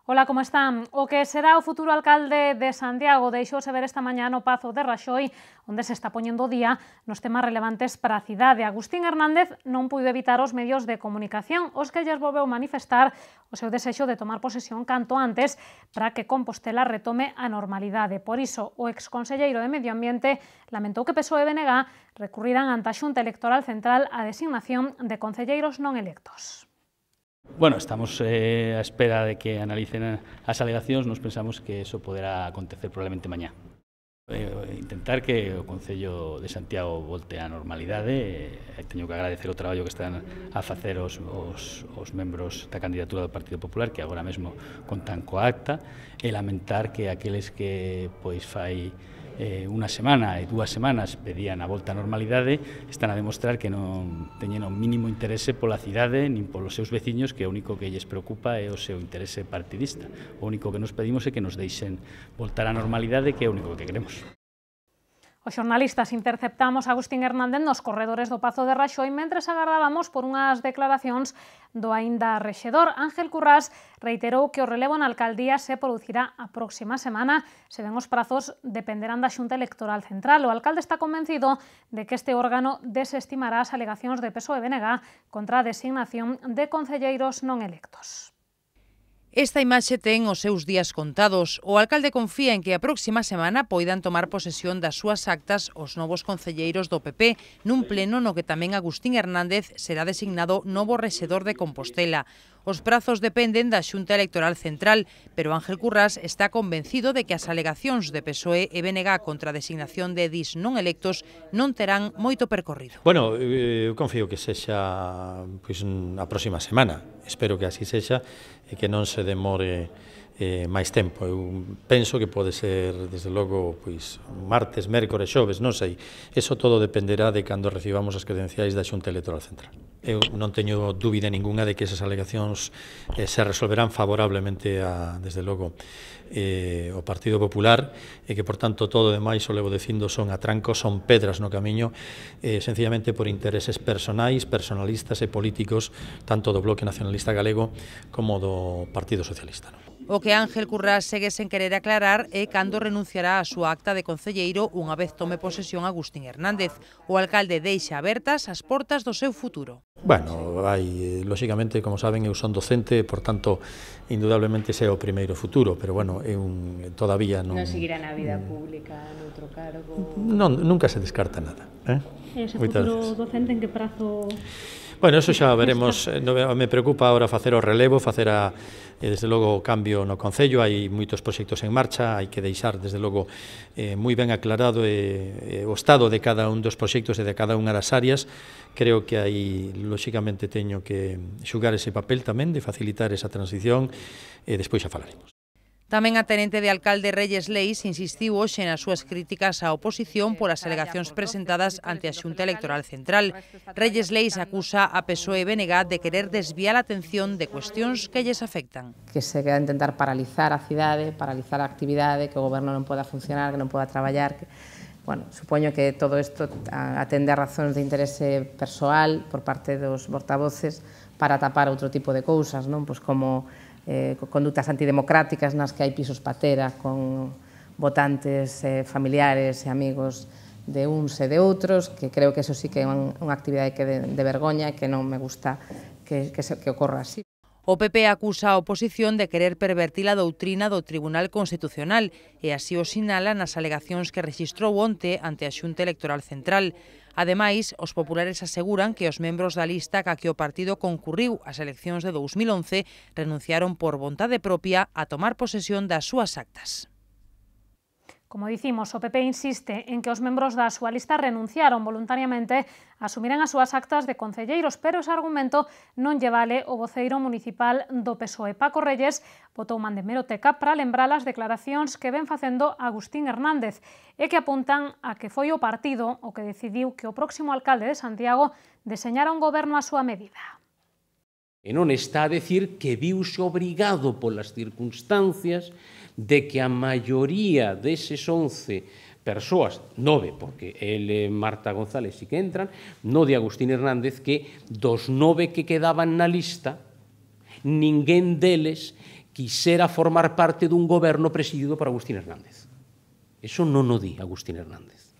Ola, como están? O que será o futuro alcalde de Santiago deixouse ver esta mañá no Pazo de Raxoi, onde se está poñendo o día nos temas relevantes para a cidade. Agustín Hernández non puido evitar os medios de comunicación, os que lles volveu manifestar o seu desexo de tomar posesión canto antes para que Compostela retome a normalidade. Por iso, o exconselleiro de Medio Ambiente lamentou que PSOE e BNG recurriran ante a Xunta Electoral Central a designación de concelleiros non electos. Bueno, estamos á espera de que analicen as alegacións. Nos pensamos que eso poderá acontecer probablemente mañá. Intentar que o Concello de Santiago volte á normalidade. Teño que agradecer o traballo que están a facer os membros da candidatura do Partido Popular, que agora mesmo contan coa acta, e lamentar que aqueles que fai unha semana e 2 semanas pedían a volta á normalidade están a demostrar que non teñen o mínimo interese pola cidade nin polos seus veciños, que o único que lles preocupa é o seu interese partidista. O único que nos pedimos é que nos deixen voltar á normalidade, que é o único que queremos. Os xornalistas interceptamos a Agustín Hernández nos corredores do Pazo de Raxoi mentres agardábamos por unhas declaracións do aínda rexedor. Ángel Currás reiterou que o relevo na alcaldía se producirá a próxima semana, se ben os prazos dependerán da Xunta Electoral Central. O alcalde está convencido de que este órgano desestimará as alegacións de PSOE e BNG contra a designación de concelleiros non electos. Esta imaxe ten os seus días contados. O alcalde confía en que a próxima semana poidan tomar posesión das súas actas os novos concelleiros do PP nun pleno no que tamén Agustín Hernández será designado novo rexedor de Compostela. Os prazos dependen da Xunta Electoral Central, pero Ángel Currás está convencido de que as alegacións de PSOE e BNG contra a designación de edís non electos non terán moito percorrido. Bueno, eu confío que sexa a próxima semana. Espero que así sexa e que non se demore máis tempo. Eu penso que pode ser, desde logo, martes, mércores, xoves, non sei. Eso todo dependerá de cando recibamos as credenciais da Xunta Electoral Central. Eu non teño dúbida ninguna de que esas alegacións se resolverán favorablemente desde logo, o Partido Popular, e que, por tanto, todo o demais, o levo dicindo, son atrancos, son pedras no camiño, sencillamente por intereses personalistas e políticos, tanto do Bloque Nacionalista Galego como do Partido Socialista. O que Ángel Currás segue sen querer aclarar é cando renunciará a súa acta de concelleiro unha vez tome posesión Agustín Hernández. O alcalde deixa abertas as portas do seu futuro. Bueno, lóxicamente, como saben, eu son docente, por tanto, indudablemente ese é o primeiro futuro, pero bueno, todavía non... Non seguirá na vida pública, noutro cargo... Nunca se descarta nada. E ese futuro docente en que prazo... Bueno, eso xa veremos. Me preocupa ahora facer o relevo, desde logo, o cambio no Concello. Hai moitos proxectos en marcha, hai que deixar, desde logo, moi ben aclarado o estado de cada un dos proxectos e de cada unha das áreas. Creo que aí, lóxicamente, teño que xugar ese papel tamén de facilitar esa transición e despois xa falaremos. Tamén a tenente de alcalde Reyes Leis insistiu hoxe nas súas críticas á oposición polas alegacións presentadas ante a Xunta Electoral Central. Reyes Leis acusa a PSOE e BNG de querer desviar a atención de cuestións que lles afectan. Que se queda intentar paralizar a cidade, paralizar a actividade, que o goberno non poda funcionar, que non poda traballar. Bueno, supoño que todo isto atende a razóns de interese persoal por parte dos portavoces para tapar outro tipo de cousas, non? Pois como condutas antidemocráticas nas que hai pisos patera con votantes familiares e amigos de uns e de outros, que creo que eso sí que é unha actividade que de vergoña e que non me gusta que ocorra así. O PP acusa a oposición de querer pervertir a doutrina do Tribunal Constitucional e así o sinala nas alegacións que rexistrou onte ante a Xunta Electoral Central. Ademais, os populares aseguran que os membros da lista ca que o partido concurriu ás eleccións de 2011 renunciaron por vontade propia a tomar posesión das súas actas. Como dicimos, o PP insiste en que os membros da súa lista renunciaron voluntariamente a asumiren as súas actas de concelleiros, pero ese argumento non lle vale o voceiro municipal do PSOE. Paco Reyes botou man de hemeroteca para lembrar as declaracións que ven facendo Agustín Hernández e que apuntan a que foi o partido o que decidiu que o próximo alcalde de Santiago deseñara un goberno á súa medida. E non está a decir que viuse obrigado polas circunstancias de que a maioría deses 11 persoas, 9, porque ele e Marta González sí que entran, no de Agustín Hernández, que dos 9 que quedaban na lista, ninguén deles quixera formar parte dun goberno presidido por Agustín Hernández. Eso non o di Agustín Hernández.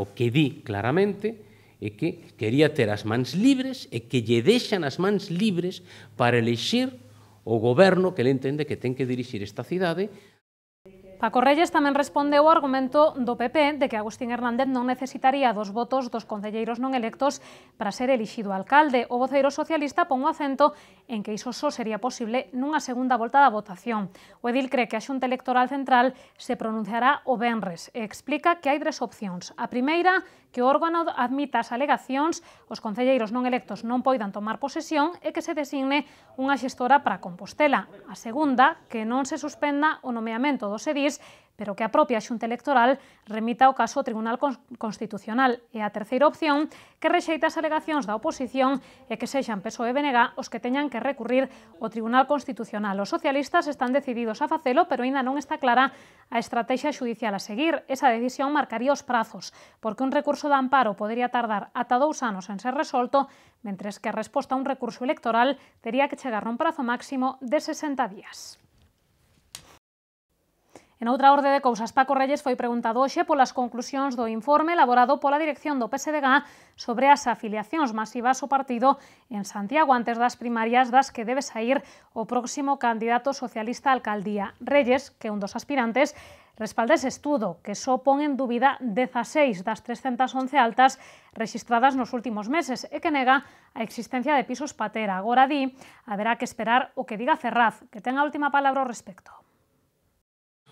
O que di claramente é que quería ter as mans libres e que lle deixan as mans libres para elixir o goberno que ele entende que ten que dirixir esta cidade. Paco Reyes tamén respondeu ao argumento do PP de que Agustín Hernández non necesitaría dos votos dos concelleiros non electos para ser elixido alcalde. O voceiro socialista pon o acento en que iso só sería posible nunha segunda volta da votación. O edil cree que a Xunta Electoral Central se pronunciará o venres e explica que hai 3 opcións. A primeira, que o órgano admita as alegacións, os concelleiros non electos non poidan tomar posesión e que se designe unha xestora para Compostela. A segunda, que non se suspenda o nomeamento dos edís, pero que a propia Xunta Electoral remita o caso ao Tribunal Constitucional. E a terceira opción, que rexeita as alegacións da oposición e que sexan PSOE e BNG os que teñan que recurrir ao Tribunal Constitucional. Os socialistas están decididos a facelo, pero aínda non está clara a estrategia xudicial a seguir. Esa decisión marcaría os prazos, porque un recurso de amparo podería tardar ata 2 anos en ser resolto, mentres que a resposta a un recurso electoral tería que chegar nun prazo máximo de 60 días. En outra orde de cousas, Paco Reyes foi preguntado hoxe polas conclusións do informe elaborado pola dirección do PSDG sobre as afiliacións masivas ao partido en Santiago antes das primarias das que debe saír o próximo candidato socialista á alcaldía. Reyes, que é un dos aspirantes, respalda ese estudo, que só pon en dúbida 16 das 311 altas rexistradas nos últimos meses e que nega a existencia de pisos patera. Agora di, haberá que esperar o que diga Ferraz, que ten a última palabra ao respecto.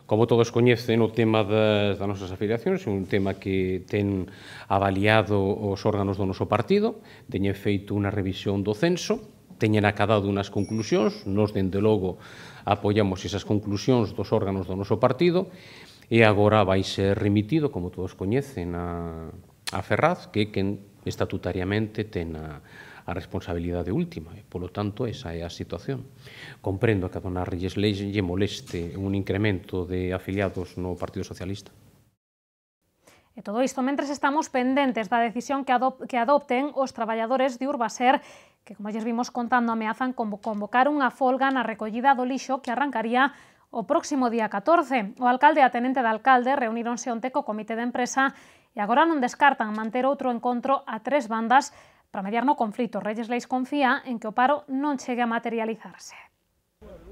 Como todos coñecen, o tema das nosas afiliacións é un tema que ten avaliado os órganos do noso partido, teñen feito unha revisión do censo, teñen acadado unhas conclusións, nos, dende logo, apoiamos esas conclusións dos órganos do noso partido, e agora vai ser remitido, como todos coñecen, a Ferraz, que é quen estatutariamente ten a responsabilidade última, e, polo tanto, esa é a situación. Comprendo que a dona Reyes Leis lle moleste un incremento de afiliados no Partido Socialista. E todo isto mentres estamos pendentes da decisión que adopten os traballadores de Urbaser, que, como lles vimos contando, ameazan convocar unha folga na recollida do lixo que arrancaría o próximo día 14. O alcalde e a tenente de alcalde reuníronse onte co comité de empresa e agora non descartan manter outro encontro a 3 bandas para mediar no conflito. Reyes Leis confía en que o paro non chegue a materializarse.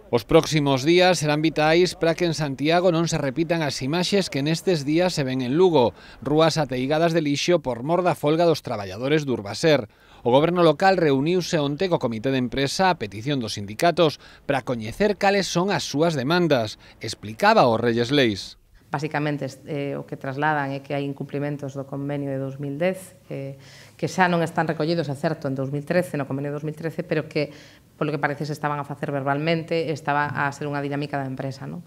Os próximos días serán vitais para que en Santiago non se repitan as imaxes que nestes días se ven en Lugo, rúas ateigadas de lixo por mor da folga dos traballadores do Urbaser. O goberno local reuniuse onte co comité de empresa a petición dos sindicatos para coñecer cales son as súas demandas, explicaba o Reyes Leis. Basicamente, o que trasladan é que hai incumplimentos do convenio de 2010, que xa non están recollidos, é certo, en 2013, no convenio de 2013, pero que, polo que parece, se estaban a facer verbalmente, estaba a ser unha dinámica da empresa, non?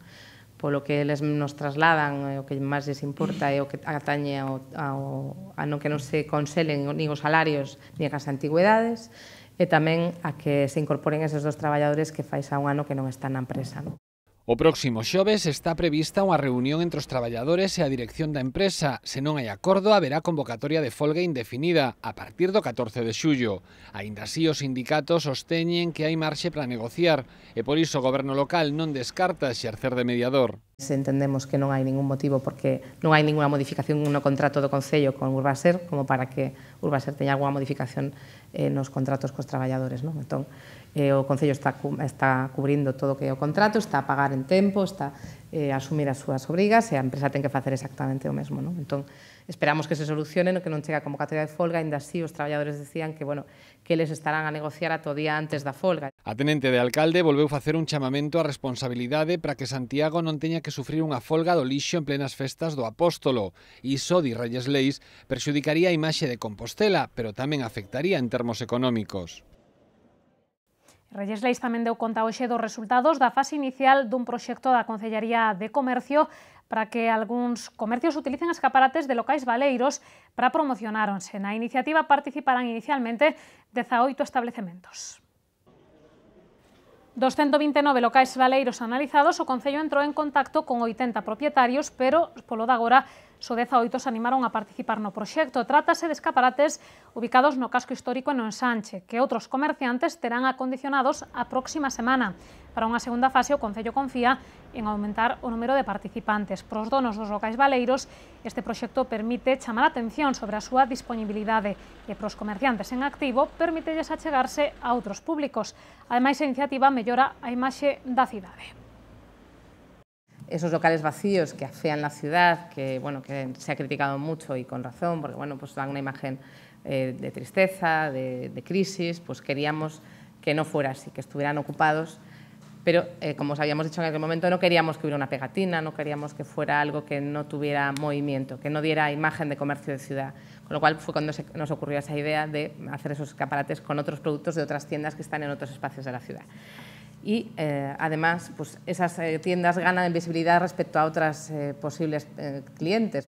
Polo que eles nos trasladan, o que máis les importa é o que atañe a non que non se conselen nin os salarios nin as antigüedades, e tamén a que se incorporen eses 2 traballadores que fai xa un ano que non están na empresa, non? O próximo xoves está prevista unha reunión entre os traballadores e a dirección da empresa. Se non hai acordo, haberá convocatoria de folga indefinida a partir do 14 de xullo. Aínda así, os sindicatos sosteñen que hai marxe para negociar e por iso o goberno local non descarta exercer de mediador. Entendemos que non hai ningún motivo porque non hai ninguna modificación no contrato do Concello con Urbaser como para que Urbaser teña alguna modificación nos contratos cos traballadores, non? Entón, o Concello está cubrindo todo o que é o contrato, está a pagar en tempo, está a asumir as súas obrigas e a empresa ten que facer exactamente o mesmo, non? Entón, esperamos que se solucione, que non chega a convocatoria de folga, ainda así os traballadores decían que, bueno, que eles estarán a negociar ata o día antes da folga. A tenente de alcalde volveu facer un chamamento á responsabilidade para que Santiago non teña que sufrir unha folga do lixo en plenas festas do Apóstolo. Iso, di Reyes Leis, perxudicaría a imaxe de Compostela, pero tamén afectaría en termos económicos. Reyes Leis tamén deu conta hoxe dos resultados da fase inicial dun proxecto da Concellaría de Comercio para que algúns comercios utilicen escaparates de locais baleiros para promocionáronse. Na iniciativa participarán inicialmente 18 establecementos. Dos 129 locais baleiros analizados, o Concello entrou en contacto con 80 propietarios, pero polo de agora só 18 se animaron a participar no proxecto. Trátase de escaparates ubicados no casco histórico e no ensanche, que outros comerciantes terán acondicionados a próxima semana. Para unha segunda fase, o Concello confía en aumentar o número de participantes. Para os donos dos locais baleiros, este proxecto permite chamar a atención sobre a súa disponibilidade e para os comerciantes en activo permítelles achegarse a outros públicos. Ademais, a iniciativa mellora a imaxe da cidade. Esos locales vacíos que afean la ciudad, que se ha criticado mucho y con razón, porque pues dan una imagen de tristeza, de crisis, pues queríamos que no fuera así, que estuvieran ocupados, pero como os habíamos dicho en aquel momento, no queríamos que hubiera una pegatina, no queríamos que fuera algo que no tuviera movimiento, que no diera imagen de comercio de ciudad, con lo cual fue cuando nos ocurrió esa idea de hacer esos escaparates con otros productos de otras tiendas que están en otros espacios de la ciudad. Y además, pues esas tiendas ganan en visibilidad respecto a otras posibles clientes.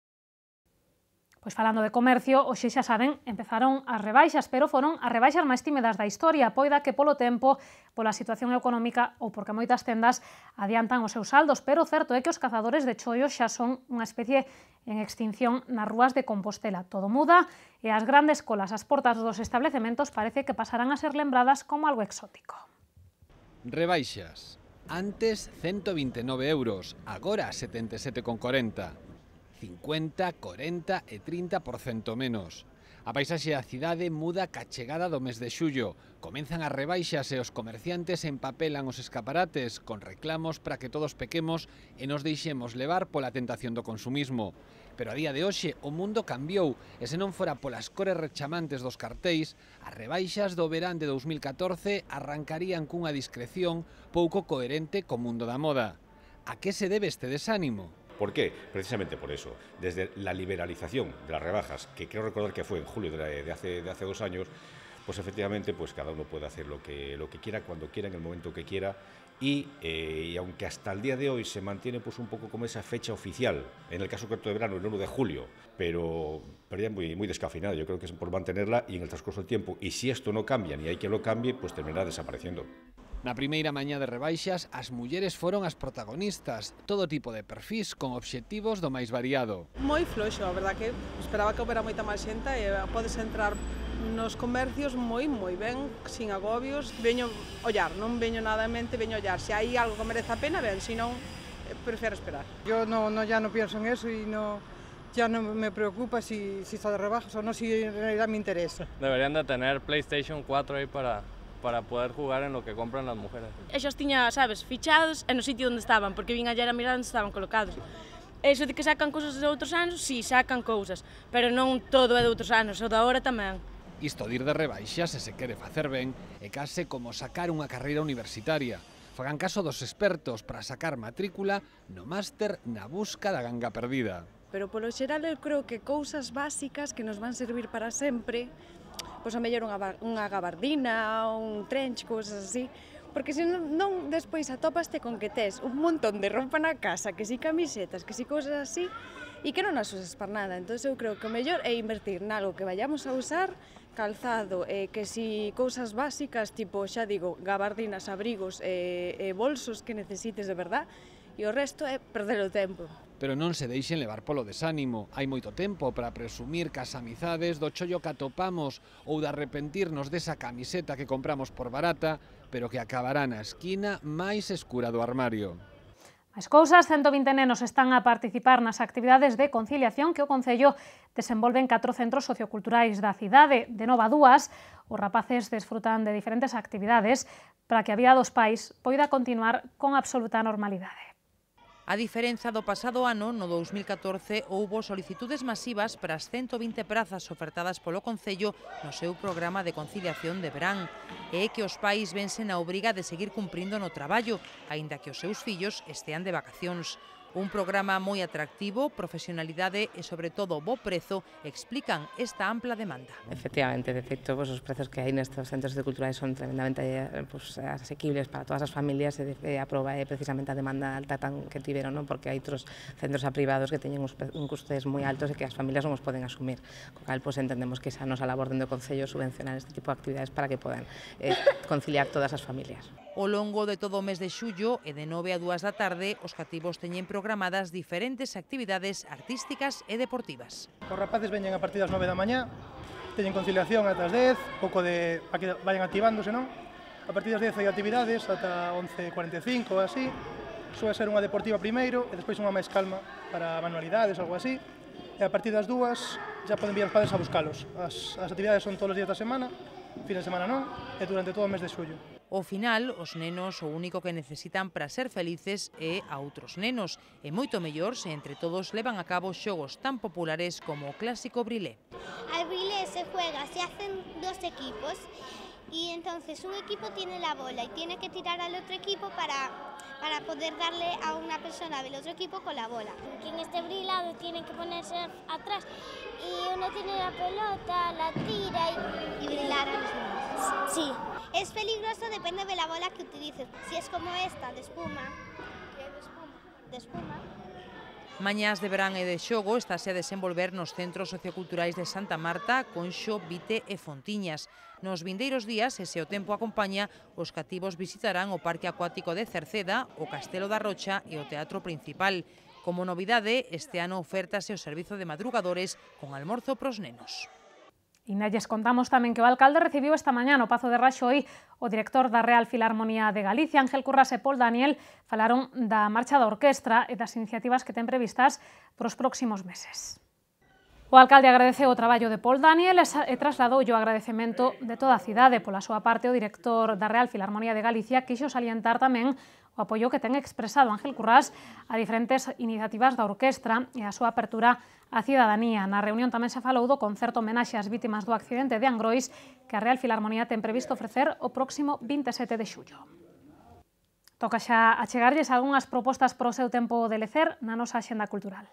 Pois falando de comercio, hoxe xa saben, empezaron as rebaixas, pero foron as rebaixas máis tímidas da historia, poida que polo tempo, pola situación económica ou porque moitas tendas adiantan os seus saldos, pero o certo é que os cazadores de chollos xa son unha especie en extinción nas rúas de Compostela. Todo muda e as grandes colas ás portas dos establecementos parece que pasarán a ser lembradas como algo exótico. Rebaixas. Antes 129 €, agora 77,40. 50, 40 e 30% menos. A paisaxe da cidade muda ca chegada do mes de xullo. Comenzan as rebaixas e os comerciantes empapelan os escaparates con reclamos para que todos pequemos e nos deixemos levar pola tentación do consumismo. Pero a día de hoxe o mundo cambiou e se non fora polas cores rechamantes dos cartéis, as rebaixas do verán de 2014 arrancarían cunha discreción pouco coherente co mundo da moda. A que se debe este desánimo? ¿Por qué? Precisamente por eso. Desde la liberalización de las rebajas, que creo recordar que fue en julio de hace 2 años, pues efectivamente pues cada uno puede hacer lo que quiera, cuando quiera, en el momento que quiera, y aunque hasta el día de hoy se mantiene pues un poco como esa fecha oficial, en el caso concreto de verano, el 1 de julio, pero ya muy descafeinada, yo creo que es por mantenerla y en el transcurso del tiempo, y si esto no cambia ni hay quien lo cambie, pues terminará desapareciendo. Na primeira mañá de rebaixas, as mulleres foron as protagonistas, todo tipo de perfis con obxectivos do máis variado. Moi floxo, a verdad que esperaba que houbera moita máis xente e podes entrar nos comercios moi ben, sin agobios. Veño ollar, non veño nada en mente, veño ollar. Se hai algo que merece a pena, ben, se non, prefiro esperar. Yo ya no pienso en eso y ya no me preocupa si está de rebajas o no, si en realidad me interesa. Deberían de tener PlayStation 4 ahí para poder jugar en lo que compran las mujeres. Ellos tiña, sabes, fichados en o sitio onde estaban, porque vin ayer a mirar onde estaban colocados. Eso de que sacan cousas de outros anos, si, sacan cousas, pero non todo é de outros anos, o da hora tamén. Isto de ir de rebaixas, se quere facer ben, é case como sacar unha carreira universitaria. Fagan caso dos expertos para sacar matrícula no máster na busca da ganga perdida. Pero polo xeral eu creo que cousas básicas que nos van servir para sempre, pois a mellor unha gabardina, un trench, cousas así, porque se non despois atópaste con que tes un montón de roupa na casa, que si camisetas, que si cousas así, e que non as usas para nada. Entón eu creo que o mellor é invertir nalgo que vayamos a usar, calzado, que si cousas básicas, tipo, xa digo, gabardinas, abrigos e bolsos que necesites de verdad, e o resto é perder o tempo. Pero non se deixen levar polo desánimo. Hai moito tempo para presumir que as amizades do chollo que atopamos ou de arrepentirnos desa camiseta que compramos por barata, pero que acabará na esquina máis escura do armario. As cousas, 120 nenos están a participar nas actividades de conciliación que o Concello desenvolve en 4 centros socioculturais da cidade. De nova a 2, os rapaces desfrutan de diferentes actividades para que a vida dos pais poida continuar con absoluta normalidade. A diferenza do pasado ano, no 2014, houbo solicitudes masivas para as 120 prazas ofertadas polo Concello no seu programa de conciliación de verán. E é que os pais vense na obriga de seguir cumprindo no traballo, aínda que os seus fillos estean de vacacións. Un programa moi atractivo, profesionalidade e, sobre todo, bo prezo, explican esta ampla demanda. Efectivamente, de feito, os prezos que hai nestes centros culturais son tremendamente asequibles para todas as familias e a prova é precisamente a demanda alta que tiveron, porque hai outros centros privados que teñen un custes moi altos e que as familias non os poden asumir. Co cal, entendemos que esa nosa labor dentro do Concello subvencionar este tipo de actividades para que podan conciliar todas as familias. Ao longo de todo o mes de xullo e de 9 a 2 da tarde, os cativos teñen programadas diferentes actividades artísticas e deportivas. Os rapaces veñen a partir das 9 da mañá, teñen conciliación ata as 10, pouco de para que vayan activándose, non? A partir das 10 hai actividades ata 11:45 ou así. Soe ser unha deportiva primeiro e despois unha máis calma para manualidades, algo así. E a partir das 2 já poden vir os padres a buscalos. As actividades son todos os días da semana, fin de semana non, e durante todo o mes de xullo. Ao final, os nenos o único que necesitan para ser felices é a outros nenos, e moito mellor se entre todos levan a cabo xogos tan populares como o clásico brilé. Al brilé se juega, se hacen dos equipos y entonces un equipo tiene la bola y tiene que tirar al otro equipo para poder darle a una persona del otro equipo con la bola. Quien esté brilado tiene que ponerse atrás y uno tiene la pelota, la tira y brillar a los demás. Sí. Es peligroso, depende de la bola que utilices. Si es como esta, de espuma, de espuma. Mañás de verán e de xogo estáse a desenvolver nos centros socioculturais de Santa Marta, Conxo, Vite e Fontiñas. Nos vindeiros días, e se o tempo acompaña, os cativos visitarán o Parque Acuático de Cerceda, o Castelo da Rocha e o Teatro Principal. Como novidade, este ano ofértase o servizo de madrugadores con almorzo pros nenos. E nalles contamos tamén que o alcalde recibiu esta mañá no Pazo de Raxoi o director da Real Filarmonía de Galicia, Ángel Curras e Paul Daniel, falaron da marcha da orquestra e das iniciativas que ten previstas para os próximos meses. O alcalde agradeceu o traballo de Paul Daniel e trasladoulle o agradecemento de toda a cidade. Pola súa parte, o director da Real Filarmonía de Galicia quixo salientar tamén o apoio que ten expresado Ángel Currás a diferentes iniciativas da orquestra e a súa apertura á cidadanía. Na reunión tamén se falou do concerto homenaxe ás vítimas do accidente de Angrois que a Real Filarmonía ten previsto ofrecer o próximo 27 de xullo. Toca xa achegarlles algunhas propostas para o seu tempo de lecer na nosa axenda cultural.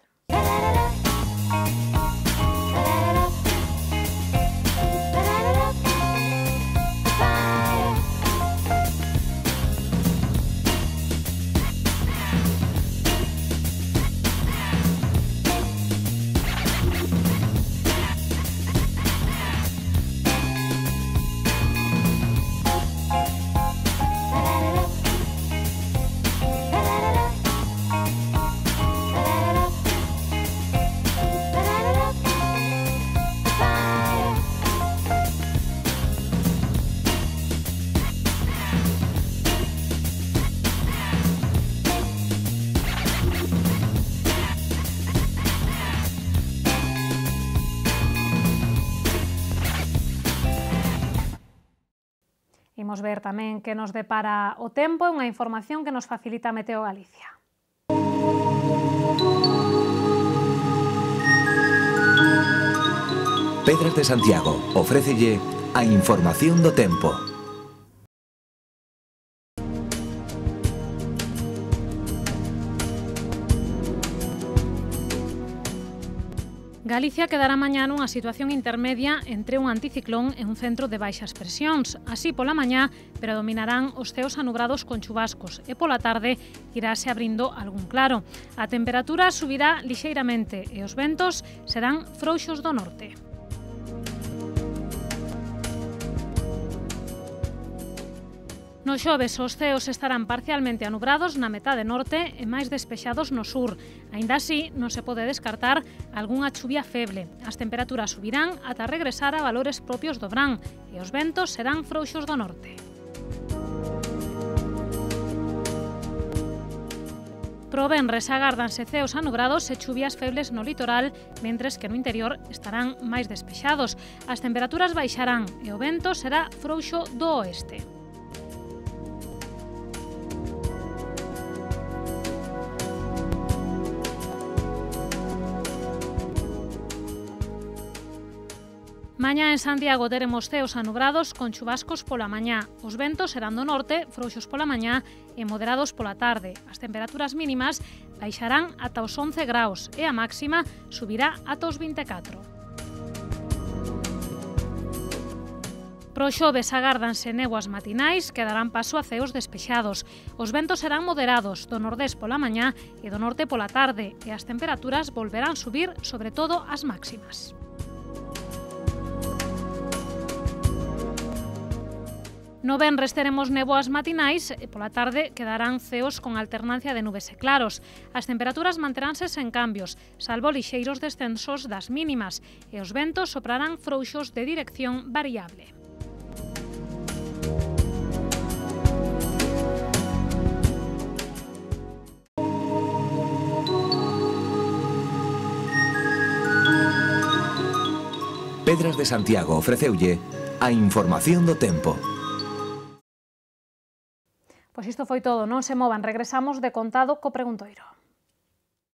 Imos ver tamén que nos depara o tempo e unha información que nos facilita Meteo Galicia. Pedras de Santiago ofrécelle a información do tempo. Galicia quedará mañá nunha situación intermedia entre un anticiclón e un centro de baixas presións. Así, pola mañá, predominarán os ceos anubrados con chubascos e pola tarde irase abrindo algún claro. A temperatura subirá lixeiramente e os ventos serán frouxos do norte. No xoves, os ceos estarán parcialmente anubrados na metade norte e máis despexados no sur. Aínda así, non se pode descartar algunha chuvia feble. As temperaturas subirán ata regresar a valores propios do verán e os ventos serán frouxos do norte. Pro venres agárdanse ceos anubrados e chuvias febles no litoral, mentres que no interior estarán máis despexados. As temperaturas baixarán e o vento será frouxo do oeste. Mañá en Santiago teremos ceos anubrados con chubascos pola mañá. Os ventos serán do norte, frouxos pola mañá e moderados pola tarde. As temperaturas mínimas baixarán ata os 11 graus e a máxima subirá ata os 24. Pro xoves agárdanse néboas matinais que darán paso a ceos despexados. Os ventos serán moderados do nordés pola mañá e do norte pola tarde e as temperaturas volverán subir, sobre todo as máximas. No venres teremos néboas matinais e pola tarde quedarán ceos con alternancia de nubes e claros. As temperaturas manteránse sen cambios, salvo lixeiros descensos das mínimas, e os ventos soprarán frouxos de dirección variable. Pedras de Santiago ofreceulle a información do tempo. Pois isto foi todo, non se movan, regresamos de contado co preguntoiro.